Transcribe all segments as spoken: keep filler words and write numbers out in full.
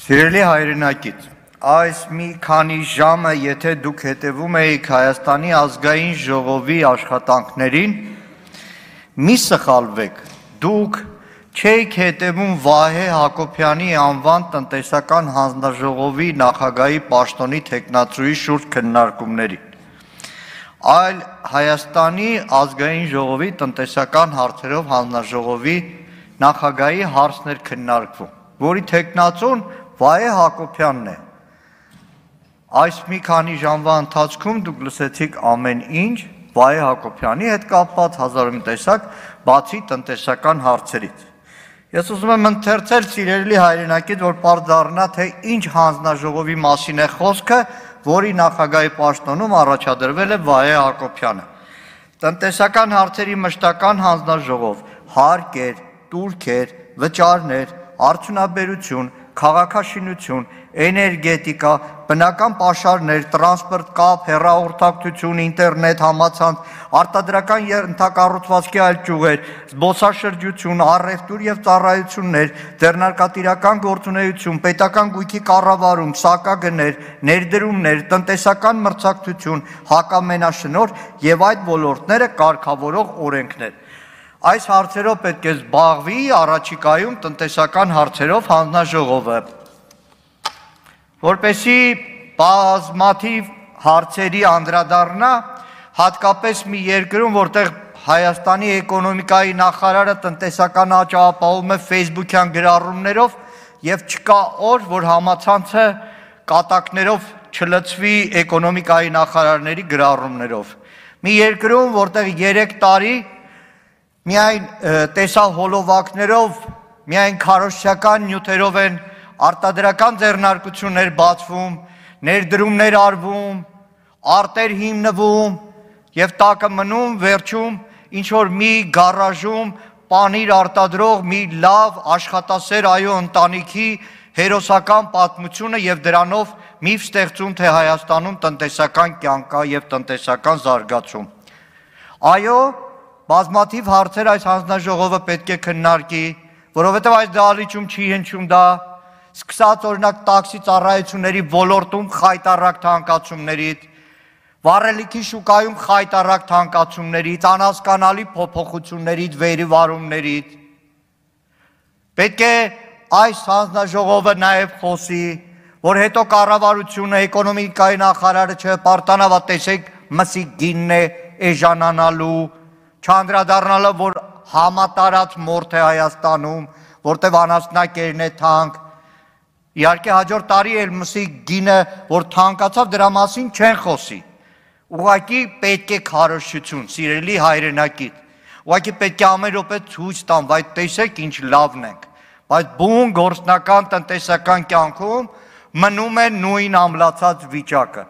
Սիրելի հայրենակից, այս մի քանի ժամը, եթե դուք հետևում եք Հայաստանի ազգային ժողովի աշխատանքներին, մի սխալվեք, դուք չեք հետևում Վահե Հակոբյանի անվան տնտեսական հանձնաժողովի նախագահի պաշտոնի թեկնածուի շուրջ քննարկումներին, այլ Հայաստանի ազգային ժողովի տնտեսական հարցերով հանձնաժողովի նախագահի հարցներ քննարկվում, որի թեկնածուն Վահե Հակոբյանն է։ Այս մի քանի ժամվա ընթացքում դուք լսեցիք ամեն ինչ Վահե Հակոբյանի հետ կապված հազար ու մի տեսակ բացի տնտեսական հարցերից։ Ես ուզում եմ ընթերցել սիրելի հայրենակից, որ պարզ դառնա, թե ինչ հանձնաժողովի մասին է խոսքը, որի նախագահի պաշտոնում առաջադրվել է Վահե Հակոբյանը։ Տնտեսական հարցերի մշտական հանձնաժողով, հարկեր, տուրքեր, վճարներ, արդյունաբերություն, քաղաքաշինություն, էներգետիկա, բնական պաշարներ, տրանսպորտ, կապ, հեռահաղորդակցություն, ինտերնետ, համացանց, արտադրական ենթակառուցվածքի այլ ճյուղեր, զբոսաշրջություն, առևտուր և ծառայություններ, ձեռնարկատիրական գործունեություն, պետական գույքի կառավարում, սակագներ, ներդրումներ, տնտեսական մրցակցություն, հակամենաշնորհ և այդ ոլորտները կարգավորող օրենքներ։ Այս հարցերով պետք է զբաղվի առաջիկայում տնտեսական հարցերով հանձնաժողովը, որպեսզի բազմաթիվ հարցերի անդրադառնա, հատկապես մի երկրում, որտեղ Հայաստանի էկոնոմիկայի նախարարը տնտեսական աճ ապահովում է ֆեյսբուքյան գրառումներով և չկա օր, որ համացանցը կատակներով չլցվի էկոնոմիկայի նախարարների գրառումներով։ Մի երկրում, որտեղ երեք տարի միայն տեսահոլովակներով, միայն քարոզչական նյութերով են արտադրական ձեռնարկություններ բացվում, ներդրումներ արվում, արտեր հիմնվում և տակը մնում վերջում ինչ-որ մի գարաժում պանիր արտադրող մի լավ աշխատասեր այո ընտանիքի հերոսական պատմությունը և դրանով միֆ ստեղծում, թե Հայաստանում տնտեսական կյանք կա և տնտեսական զարգացում։ Այո, բազմաթիվ հարցեր այս հանձնաժողովը պետք է քննարկի, որովհետև այս դահլիճում չի հնչում դա, սկսած օրինակ տաքսի ծառայությունների ոլորտում խայտառակ թանկացումներից, վառելիքի շուկայում խայտառակ թանկացումներից, անհասկանալի փոփոխություններից, վերևարումներից։ Պետք է այս հանձնաժողովը նաև խոսի, որ հետո կառավարությունը, էկոնոմիկայի նախարարը չպարտանա, տեսեք մսի գինն է էժանանալու, չանդրադառնալով, որ համատարած մորթ է Հայաստանում, որտև անասնակերն է թանկ, իհարկե հաջորդ տարի էլ մսի գինը, որ թանկացավ, դրա մասին չեն խոսի, ուղղակի պետք է քարոզչություն, սիրելի հայրենակից, ուղղակի պետք է ամեն րոպե ցույց տան, բայց տեսեք ինչ լավն ենք, բայց բուն գործնական տնտեսական կյանքում մնում է նույն ամլացած վիճակը,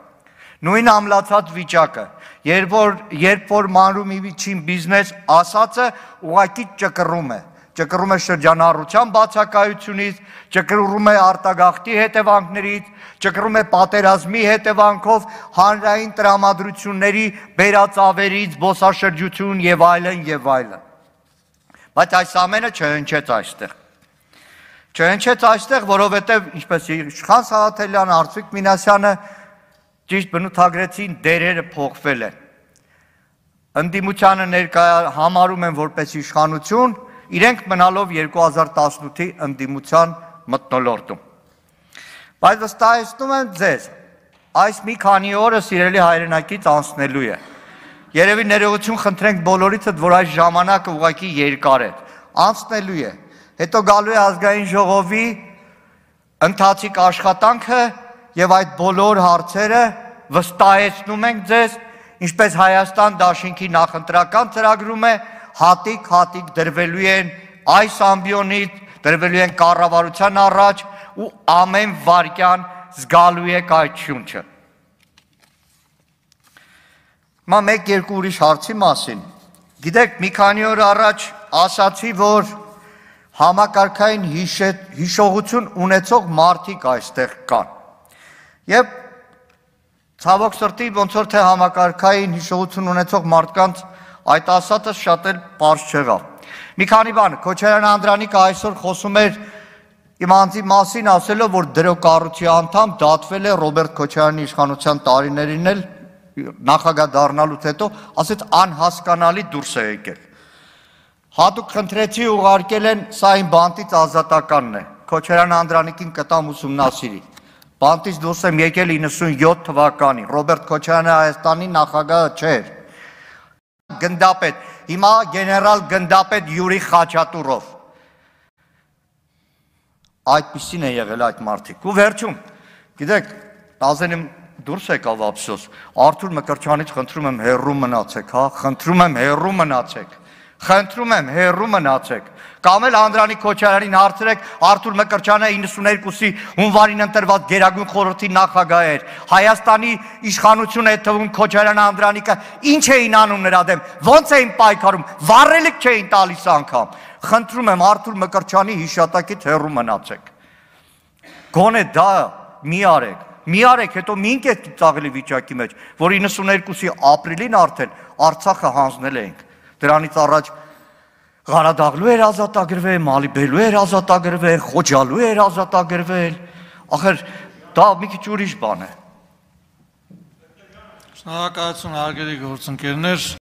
նույն ամլացած վիճակը, երբ որ, երբ որ մանրում իվիչին բիզնես ասածը ուղղակի ճկռում է, ճկռում է շրջանառության բացակայությունից, ճկռում է արտագաղթի հետևանքներից, ճկռում է պատերազմի հետևանքով, հանրային տրամադրությունների բերածավերից, զբոսաշրջություն և այլն և այլն։ Բայց այս ամենը չհնչեց այստեղ։ Չհնչեց այստեղ, որովհետև, ինչպես Իշխան Սաղաթելյանը, Արծվիկ Մինասյանը ճիշտ բնութագրեցին, դերերը փոխվել են։ Ընդդիմությանը ներկա համարում են որպես իշխանություն, իրենք մնալով երկու հազար տասնութի ընդդիմության մթնոլորտում։ Բայց վստահեցնում եմ ձեզ, այս մի քանի օրը սիրելի հայրենակից անցնելու է։ Երևի ներողություն խնդրենք բոլորիցդ, որ այս ժամանակը ուղղակի երկար է, անցնելու է։ Հետո գալու է ազգային ժողովի ընթացիկ աշխատանքը և այդ բոլոր հարցերը վստահեցնում ենք ձեզ, ինչպես Հայաստան դաշինքի նախընտրական ծրագրում է, հատիկ-հատիկ դրվելու են այս ամբիոնից, դրվելու են կառավարության առաջ ու ամեն վայրկյան զգալու եք այդ շունչը։ Հիմա մեկ-երկու ուրիշ հարցի մասին։ Գիտեք, մի քանի օր առաջ ասացի, որ համակարգային հիշողություն ունեցող մարդիկ այստեղ կան։ Եվ ցավոք սրտի ոնց որ թե համակարգային հիշողություն ունեցող մարդկանց այդ ասածը շատ էլ պարզ չեղավ։ Մի քանի բան, Քոչարյան Անդրանիկը այսօր խոսում էր Իմ անձի մասին ասելով, որ դրոկառույցի անդամ դատվել է Ռոբերտ Քոչարյանի իշխանության տարիներին էլ նախագահ դառնալուց հետո, ասեց անհասկանալի դուրս է եկել։ Հատուկ խնդրեցի ուղարկել են, սա իմ բանտից ազատականն է, Քոչարյան Անդրանիկին կտամ ուսումնասիրի։ Բանտից դուրս եմ եկել իննսունյոթ թվականին, Ռոբերտ Քոչարյանը Հայաստանի նախագահը չէր։ Գնդապետ, հիմա գեներալ գնդապետ Յուրի Խաչատուրով։ Այդպիսին է եղել այդ մարդիկ։ Ու վերջում, գիտեք, Նազենիմ դուրս եկավ ափսոս, Արթուր Մկրտչյանից խնդրում եմ հեռու մնացեք, հա, խնդրում եմ հեռու մնացեք, խնդրում եմ հեռու մնացեք, կամ էլ Անդրանիկ Քոչարյանին հարցրեք, Արթուր Մկրտչյանը իննսունյոթի հունվարին ընտրված Գերագույն խորհրդի նախագահ էր, Հայաստանի իշխանություն է թվում Քոչարյան Անդրանիկը, ինչ էին անում նրա դեմ, ոնց էին պայքարում, վառելիք չէին տալիս անգամ։ Խնդրում եմ Արթուր Մկրտչյանի հիշատակից հեռու մնացեք։ Գոնե դա մի արեք, մի արեք, հետո մի ինքետ ծաղելի վիճակի մեջ, որ իննսունյոթի ապրիլին արդեն Արցախը հանձնել էինք։ Դրանից առաջ Ղարադաղլու էր ազատագրվել, Մալիբելու էր ազատագրվել, Խոջալու էր ազատագրվել, ախր դա մի քիչ ուրիշ բան է։ Շնորհակալություն հարգելի գործընկերներ։